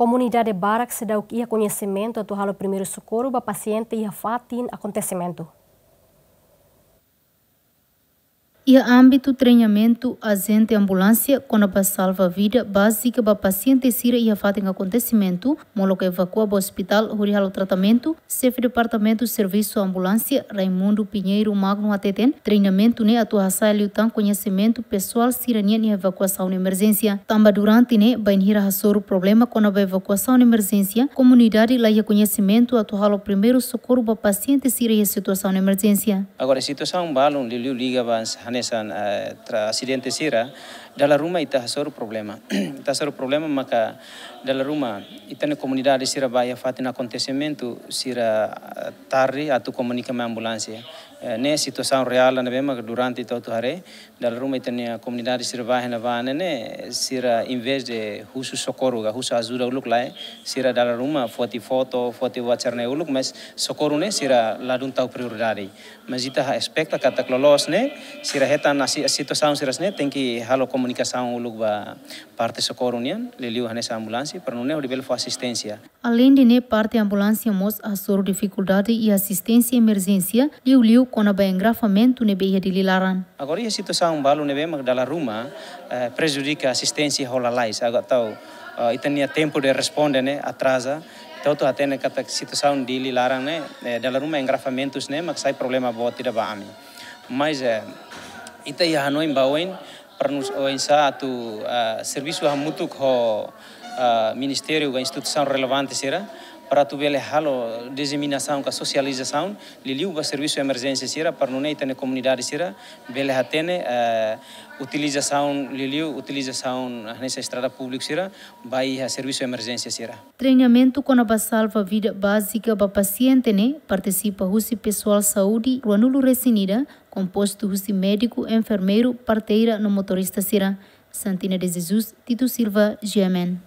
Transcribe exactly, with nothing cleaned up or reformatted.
Komunidade barak seidauk iha koñesimentu atu halo primeiru sokorru ba pasiente iha fatin akontesimentu. Iha ámbitu treinamentu ajente ambulánsia kona-ba salva vida bázika ba pasiente sira iha fatin akontesimentu, molok evakua ba ospitál hodi halo tratamentu, xefe Departamentu Servisu Ambulánsia, Raimundo Pinheiro Magno hateten, treinamentu ne'e atu hasa'e liután koñesimentu pesoál sira-nian iha evakuasaun emerjénsia. Tanba durante ne'e, bainhira hasoru problema kona-ba evakuasaun emerjénsia, komunidade la iha koñesimentu atu halo primeiru sokorru ba pasiente sira iha situasaun emerjénsia. Agora, situasaun balun liuliu liga ba hanesan, eh, tra-, asidente sira, dala ruma ita hasoru problema. Ita hasoru problema maka dala ruma ita-nia komunidade sira ba iha fatin akontesimentu sira, eh, tarde atu komunika mai ambulánsia. Eh, ne'e situasaun reál ne'ebé maka durante ita hotu haree, dala ruma ita-nia komunidade sira ba iha ne'ebá ne'e, sira em vez de husu sokorru ka husu ajuda uluk lae, sira dala ruma foti foto, foti WhatsApp ne'e uluk, mas sokorru ne'e sira ladún tau prioridade. Mas ita espeta katak loloos ne'e, sira hetan a si-, situasaun sira-ne'e, tenke halo komunikasaun uluk ba parte sokorru nian, liuliu hanesan ambulánsia, para nune'e hodi bele fó asisténsia. Aleinde ne'e, parte ambulánsia mós hasoru difikuldade iha asisténsia emerjénsia, liuliu kona-ba engarrafamentu ne'ebé iha Dili laran. Agora, iha situasaun balu ne'ebé mak dala ruma, eh, prejudika asisténsia ho lalais, agora tau, eh, ita-nia tempu de responde ne'e atraza, ita hotu hatene katak situasaun Dili laran ne'e, eh, dala ruma engarrafamentus ne'e mak sai problema boot ida ba ami. Mas, eh, ita iha hanoin ba oin, para nós oinsá atu, ah, servisu hamutuk ho, ah, ministériu ka instituisaun relevante sira, para atu bele halo diseminasaun ka sosializasaun, liuliu ba servisu emerjénsia sira, para nune'e ita-nia komunidade sira bele hatene, eh, utilizasaun, liuliu utilizasaun, ah, hanesan estrada públiku sira, ba iha servisu emerjénsia sira. Treinamentu kona-ba salva vida bázika ba pasiente ne'e partisipa husi pesoál saúde ruanulu resin ida, kompostu husi médiku, enfermeiru, parteira no motorista sira. Santina de Jesus, Tito Silva, G M N.